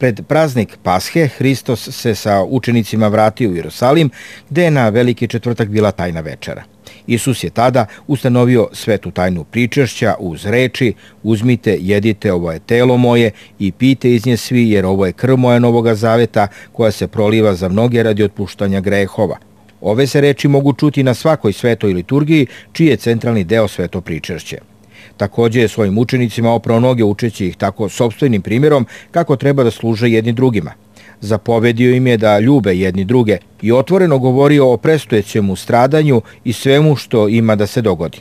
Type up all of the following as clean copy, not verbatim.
Pred praznik Pashe Hristos se sa učenicima vratio u Jerusalim, gde je na Veliki četvrtak bila tajna večera. Isus je tada ustanovio svetu tajnu pričešća uz reči: uzmite, jedite, ovo je telo moje i pijte iz nje svi, jer ovo je krv moja novoga zaveta koja se proliva za mnoge radi otpuštanja grehova. Ove se reči mogu čuti na svakoj svetoj liturgiji, čiji je centralni deo sveto pričešće. Također je svojim učenicima oprao noge učeći ih tako sopstvenim primjerom kako treba da služe jedni drugima. Zapovedio im je da ljube jedni druge i otvoreno govorio o predstojećem stradanju i svemu što ima da se dogodi.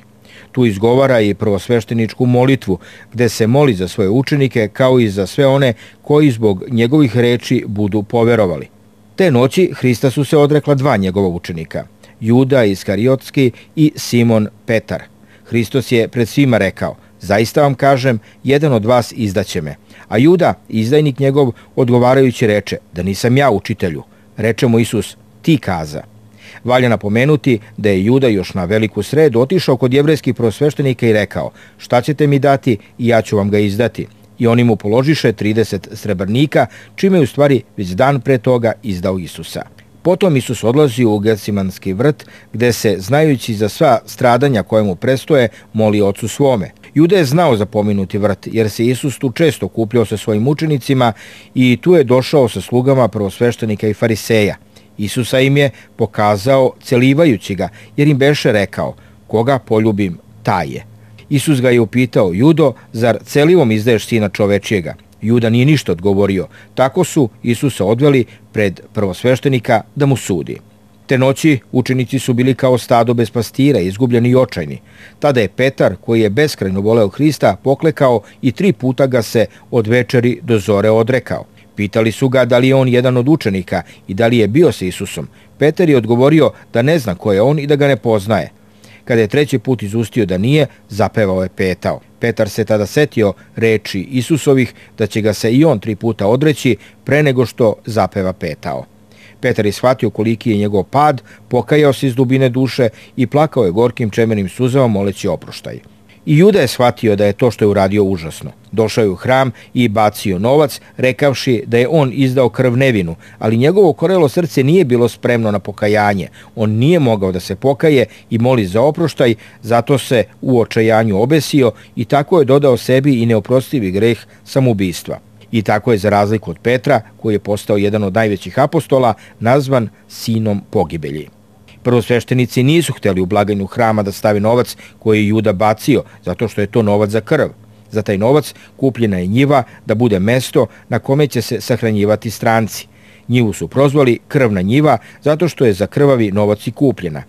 Tu izgovara i prvosvešteničku molitvu, gde se moli za svoje učenike kao i za sve one koji zbog njegovih reči budu poverovali. Te noći Hrista su se odrekla dva njegova učenika, Juda Iskariotski i Simon Petar. Hristos je pred svima rekao: zaista vam kažem, jedan od vas izdaće me. A Juda, izdajnik njegov, odgovarajući reče: da nisam ja, učitelju. Reče mu Isus: ti kaza. Valja napomenuti da je Juda još na veliku sredu otišao kod jevrejskih prvosveštenika i rekao: šta ćete mi dati i ja ću vam ga izdati. I oni mu položiše 30 srebrnika, čime je u stvari već dan pre toga izdao Isusa. Potom Isus odlazi u Gecimanski vrt, gde se, znajući za sva stradanja koje mu prestoje, moli Ocu svome. Juda je znao za pomenuti vrt, jer se Isus tu često okupljao sa svojim učenicima i tu je došao sa slugama prvosveštenika i fariseja. Isusa im je pokazao celivajući ga, jer im beše rekao: koga poljubim, taj je. Isus ga je upitao: Judo, zar celivom izdaješ sina čovečijega? Juda nije ništa odgovorio. Tako su Isusa odveli pred prvosveštenika da mu sudi. Te noći učenici su bili kao stado bez pastira, izgubljeni i očajni. Tada je Petar, koji je beskrajno voleo Hrista, poklekao i 3 puta ga se od večeri do zore odrekao. Pitali su ga da li je on jedan od učenika i da li je bio sa Isusom. Petar je odgovorio da ne zna ko je on i da ga ne poznaje. Kada je 3. put izustio da nije, zapevao je petao. Petar se tada setio reči Isusovih da će ga se i on 3 puta odreći pre nego što zapeva petao. Petar je shvatio koliki je njegov pad, pokajao se iz dubine duše i plakao je gorkim čemenim suzama moleći oproštaj. I Juda je shvatio da je to što je uradio užasno. Došao je u hram i bacio novac, rekavši da je on izdao krv nevinu, ali njegovo korelo srce nije bilo spremno na pokajanje. On nije mogao da se pokaje i moli za oproštaj, zato se u očajanju obesio i tako je dodao sebi i neoprostivi greh samoubistva. I tako je, za razliku od Petra, koji je postao jedan od najvećih apostola, nazvan sinom pogibelji. Prvosveštenici nisu hteli u blagajnu hrama da stave novac koji je Juda bacio, zato što je to novac za krv. Za taj novac kupljena je njiva da bude mesto na kome će se sahranjivati stranci. Njivu su prozvali krvna njiva zato što je za krvavi novac i kupljena.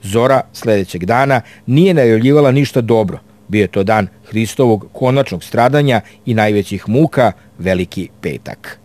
Zora sledećeg dana nije najavljivala ništa dobro. Bio je to dan Hristovog konačnog stradanja i najvećih muka, Veliki petak.